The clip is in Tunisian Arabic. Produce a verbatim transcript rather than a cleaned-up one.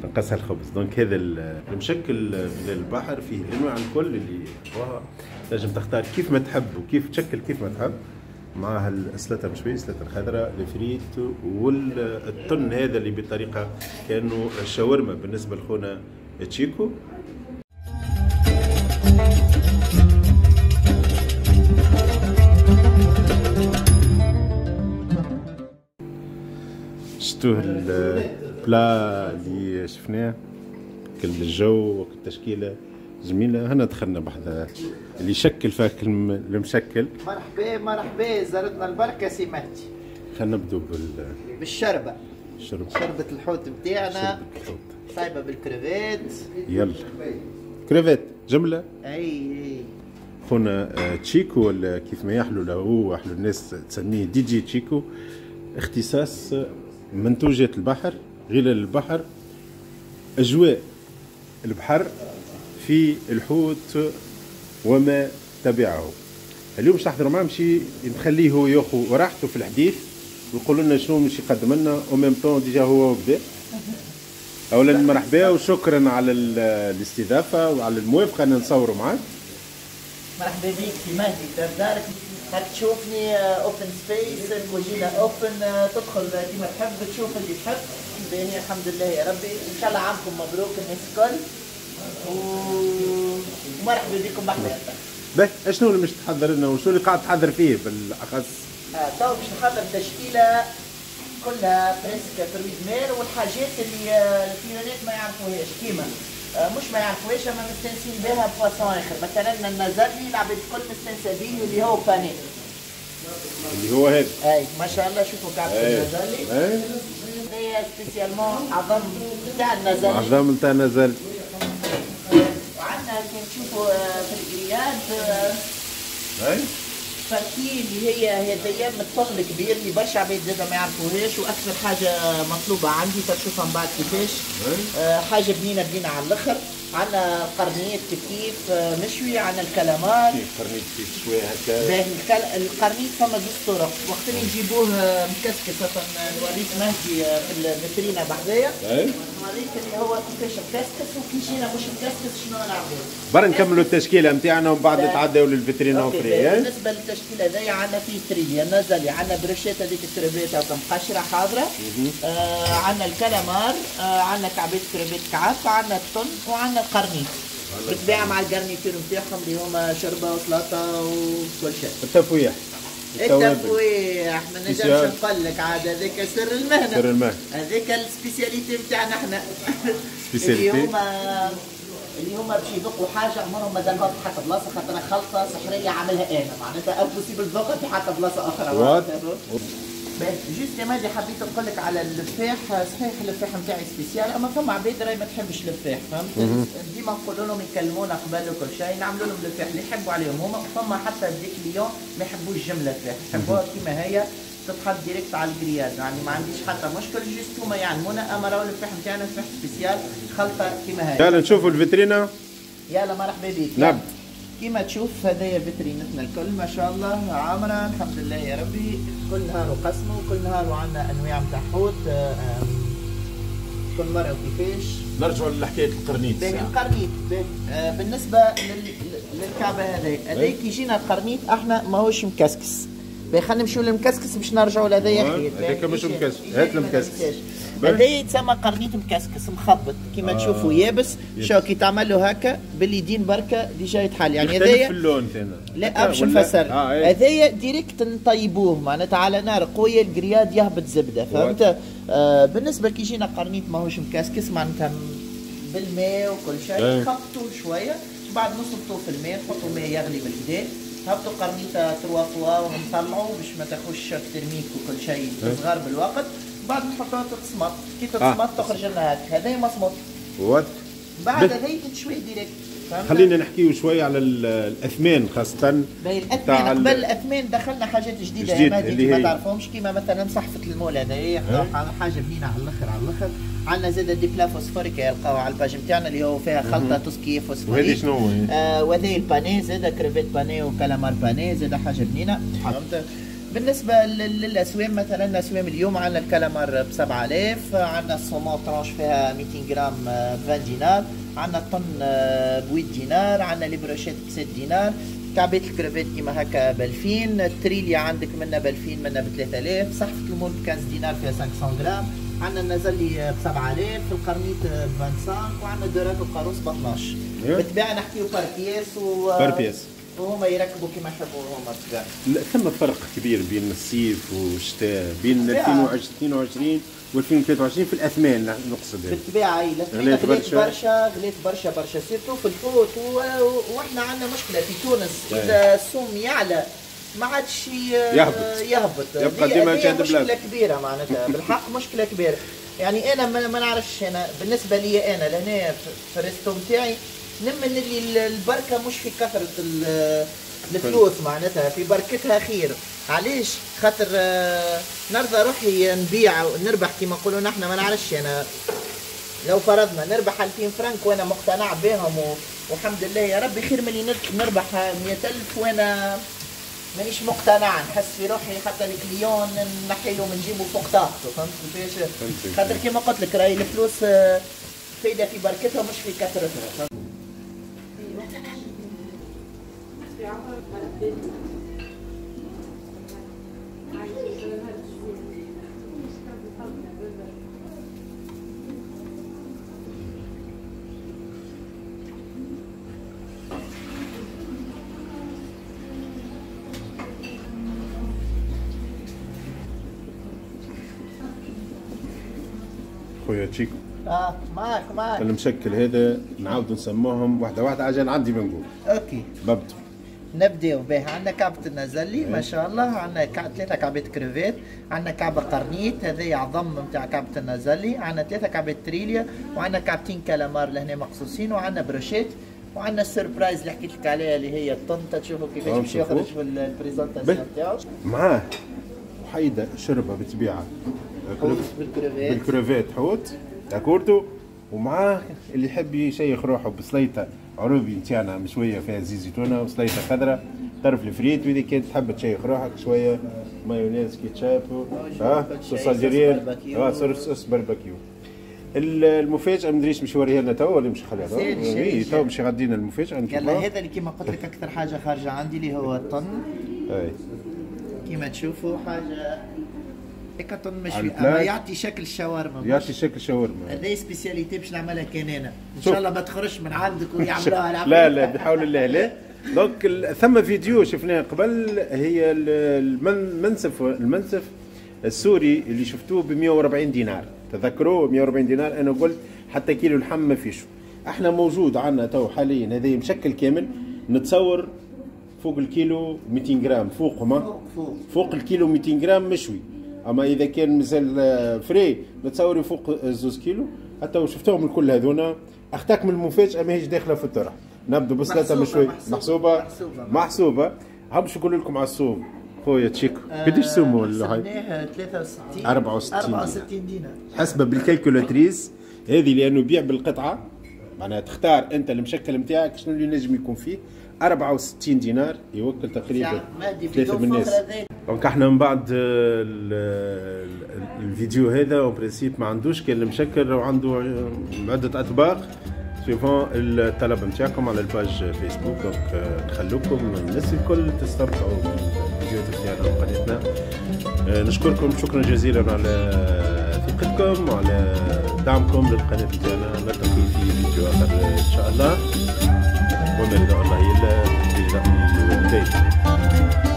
نقصها الخبز. donc هذا المشكل من البحر فيه الانواع الكل اللي يحبوها، تنجم تختار كيف ما تحب وكيف تشكل كيف ما تحب. معها السلطة مشوية، السلطة الخضراء، الفريت والطن هذا اللي بطريقة كانه الشاورما بالنسبة لخونا تشيكو. شتوه ال plat اللي شفناه كل الجو والتشكيله جميلة. هنا دخلنا بحذا اللي يشكل فاك المشكل. مرحبا مرحبا، زارتنا البركة سي مهدي. خلينا نبدو بال بالشربه، شربة. شربة الحوت نتاعنا، شربة الحوت صايبه بالكريفات. يلا كريفات جملة. اي اي خونا تشيكو ولا كيف ما يحلو له هو، حلو الناس تسميه دي جي تشيكو، اختصاص منتوجات البحر، غلال البحر، اجواء البحر في الحوت وما تبعه. اليوم باش نحضروا معاه، مشي نخليه هو ياخذ راحته في الحديث ويقول لنا شنو مش يقدم لنا au même temps déjà هو بدا. اولا مرحبا وشكرا على الاستضافة وعلى الموافقة ان نصوروا معاك. مرحبا بك سي مهدي، دار دارك، هاك تشوفني open space، الكوجينه open، تدخل كيما تحب، تشوف اللي تحب. باهي الحمد لله يا ربي، ان شاء الله عامكم مبروك الناس الكل ومرحبا بكم بحذانا. باهي، شنو اللي مش تحضر لنا وشنو اللي قاعد تحضر فيه بالاخص؟ آه تو باش نحضر تشكيله كلها presque fruits de mer والحاجات اللي ال clients ما يعرفوهاش، كيما مش ما يعرفوهاش اما مستانسين بها ب façon اخر. مثلا النزلي العباد الكل مستانسه به اللي هو pané، اللي هو هذا. اي ما شاء الله، شوفوا كعبة النزلي هي spécialement عظم نتاع النزلي، عظم نتاع النزلي. وعندنا كي تشوفوا في ال grillade اي partie اللي هي هذيا من الطن الكبير اللي برشا عباد زاده ما يعرفوهاش، واكثر حاجة مطلوبه عندي تشوفها من بعد كيفاش. آه حاجة بنينه بنينه على الاخر. عندنا قرنيط كيف كيف مشوي، عندنا الكلامار. كيف قرنيط كيف شوية هكا؟ باهي القرنيط فما زوج طرق، وقت اللي نجيبوه مكسكس مثلا نوريك مهدي في الفيترينا بحذايا، نوريك اللي هو كيفاش مكسكس وكي يجينا مش مكسكس شنو نعملو. برا نكملوا التشكيلة نتاعنا ومن بعد نتعداو للفيترينا اخرى. بالنسبة للتشكيله هذيا عندنا فيه تريليا النزلي، عندنا brochette هذيك الكريفات هكا مقشره حاضره، آه عندنا الكلامار، آه عندنا كعبات كريفات كعب، عندنا الطن، وعندنا القرنيط بالطبيعة مع ال garniture نتاعهم اللي هما شوربة وسلطة وكل شيء. التفويح التفويح ما نجمش نقول لك عاد، هذاك سر المهنة، سر المهنة، هذاك ال spécialité نتاعنا احنا. spécialité اللي هما اللي هما باش يذوقوا حاجة عمرهم ما ذاقوها في حتى بلاصة، خاطر خلطه سحريه عاملها انا، معناتها impossible تذوقها في حتى بلاصة اخرى. juste يا مهدي حبيت نقول لك على اللفاح. صحيح اللفاح نتاعي spécial، اما فما عباد راهي ما تحبش اللفاح، فهمت؟ ديما نقول لهم يكلمونا قبل وكل شيء، نعملوا لهم اللفاح اللي يحبوا عليهم هما. فما حتى des clients ما يحبوش جملة لفاح، يحبوها كيما هي تتحط direct على ال grillade، يعني ما عنديش حتى مشكل، juste هما يعلمونا. اما راهو اللفاح نتاعنا لفاح spécial، خلطه كيما هي. يلا نشوفوا الفيترينا. يلا مرحبا بك. نعم كيما تشوف هذايا فيترينتنا الكل ما شاء الله عامرة الحمد لله يا ربي. كل نهار وقسمه، وكل نهار وعندنا انواع نتاع حوت، كل مرة وكيفاش. نرجعوا لحكاية القرنيط. باهي القرنيط آه بالنسبة لل... للكعبة هذايا، هذايا كي يجينا القرنيط احنا ماهوش مكسكس. باهي خلينا نمشيو للمكسكس باش نرجعوا لهذايا خير. هذاك مش مكسكس، هات المكسكس. هذا يتسمى قرنيط مكسكس مخبط كيما آه. تشوفوا يابس، شو كي تعمل له هكا باليدين بركة déjà يتحل. يعني هذايا في اللون ثاني. لا باش نفسر، هذايا آه direct نطيبوه معناتها على نار قوية، ال grillade يهبط زبدة، فهمت؟ آه بالنسبة كي يجينا قرنيط ماهوش مكسكس معناتها بالماء وكل شيء، نخبطوه شوية بعد نصبطوه في الماء، نحطوا ماء يغلي بالكدا، هبطوا قرنيطه trois fois ونطلعوا باش ما تاخذش choc thermique وكل شيء تصغر بالوقت. بعد نحطوها تتصمت، كي تتصمت آه. تخرج لنا هكا، هذا مصمت. واضح. بعد هذا تتشوي direct. خلينا نحكيو شوية على الاثمان خاصة. باهي الاثمان، قبل الاثمان دخلنا حاجات جديدة يا مهدي ما تعرفهمش، كيما مثلا صحفه المول هذايا حاجة بنينه على الاخر على الاخر. عندنا زاد des plats phosphoriques يلقاو على ال page نتاعنا اللي هو فيها خلطه tout ce qui est phosphorique. وهذه شنو هو؟ آه وهذه ال pané زاد crevettes panées و calamar pané زاد حاجة بنينه، فهمت؟ بالنسبة للاسوام، مثلا اسوام اليوم عندنا الكلامار ب سبعة آلاف، عندنا ال saumon tranche فيها مئتين غرام ب عشرين دينار، عندنا الطن ب ثمانية دينار، عندنا les brochettes ب ستة دينار، كعبات الكريفات كيما هكا ب ألفين، التريليا عندك منا ب ألفين منا ب ثلاثة آلاف، صحفة ال moules ب خمسة عشر دينار فيها خمسمية غرام، عندنا النزلي ب سبعة آلاف، القرنيط ب خمسة وعشرين، وعندنا ال daurade والقاروص ب اثناش. بالطبيعة نحكيو par pièce و par pièce وهما يركبوا كما يحبوا هما بالطبيعة. لا ثم فرق كبير بين الصيف والشتاء، بين ألفين واثنين وعشرين و ألفين وثلاثة وعشرين في الاثمان نقصد. بالطبيعة اي غليت برشا، غليت برشا برشا surtout في الحوت، واحنا عندنا مشكلة في تونس اذا السوم يعلى ما عادش يهبط يهبط يبقى ديما مشكلة كبيرة معناتها بالحق مشكلة كبيرة. يعني انا ما نعرفش، انا بالنسبة لي انا لهنا في ال resto نتاعي نمن اللي البركة مش في كثرة الفلوس معناتها، في بركتها خير. علاش؟ خاطر نرضى روحي نبيع ونربح كيما نقولوا نحن، ما نعرفش انا لو فرضنا نربح ألفين فرنك وانا مقتنع بهم و... والحمد لله يا ربي، خير من اللي نربح مئة ألف وانا مانيش مقتنع، نحس في روحي حتى ال client نحيله من جيبه فوق طاقته. فهمت كيفاش؟ خاطر كيما قلت لك راهي الفلوس فايده في بركتها مش في كثرتها. خويا تشيكو اه معاك معاك. المشكل هذا نعاودوا نسموهم واحدة واحدة عشان عندي ما نقول. OK ببدو نبداو به. عندنا كعبة النزلي ما شاء الله، عندنا ثلاثة كعبات كريفات، عندنا كعبة قرنيط هذايا عظم نتاع كعبة النزلي، عندنا ثلاثة كعبات تريليا، وعندنا كعبتين كالامار لهنا مقصوصين، وعندنا brochettes، وعندنا ال surprise اللي حكيت لك عليها اللي هي الطنطا. تشوفوا كيفاش باش يخرج في ال présentation نتاعو. معاه وحيدة شربة بالطبيعة حوت بال crevettes، بال crevettes حوت d'accord، ومعاه اللي يحب يشيخ روحه بسليطه عروبي نتاعنا مشوية فيها زيت زيتونه وسليطه خضراء طرف الفريت، واذا كانت تحب تشيخ روحك شوية مايونيز كيتشاب اه sauce algérienne اه sauce barbecue. المفاجاة ما ندريش مش يوريها لنا تو ولا مش خليها تو؟ اي تو مش غادينا المفاجاة. يلا هذا اللي كيما قلت لك اكثر حاجة خارجه عندي اللي هو الطن. اي كيما تشوفوا حاجة هيك طن مشوي اما يعطي شكل الشاورما، يعطي شكل شاورما. هذه spécialité باش نعملها كان انا ان شاء الله ما تخرجش من عندك ويعملوها. لا لا بحول الله لا. donc ثم فيديو شفناه قبل، هي المنسف المنسف السوري اللي شفتوه ب مئة وأربعين دينار، تذكروه مئة وأربعين دينار. انا قلت حتى كيلو لحم ما فيش. احنا موجود عندنا تو حاليا هذا مشكل كامل، نتصور فوق الكيلو مئتين غرام، فوق ما فوق فوق, فوق الكيلو مئتين غرام مشوي. اما اذا كان مازال frais نتصور فوق زوز كيلو. حتى وشفتوهم الكل هذونا. اختك من المفاجاة ماهيش داخله في الطرح. نبدو بسلطه مشوي محسوبة محسوبة محسوبة. هم باش نقول لكم على السوم خويا تشيكو قداش سومو ولا هاي؟ ثلاثة وستين أربعة وستين أربعة وستين دينار حسبه بال calculatrice هذه، لانه يبيع بالقطعه، معناها تختار انت المشكل نتاعك شنو اللي نجم يكون فيه. أربعة وستين دينار يوكل تقريبا ثلاثة من الناس. donc احنا من بعد الفيديو هذا en principe ما عندوش كان المشكل وعنده عده اطباق suivant الطلب نتاعكم على ال page فيسبوك. donc نخلوكم الناس الكل تستمتعوا بالفيديوهات نتاعنا وقناتنا. نشكركم شكرا جزيلا على ثقتكم وعلى دعمكم للقناة نتاعنا. نلتقي في فيديو اخر ان شاء الله، وما رضا الله الا برضا الوالدين.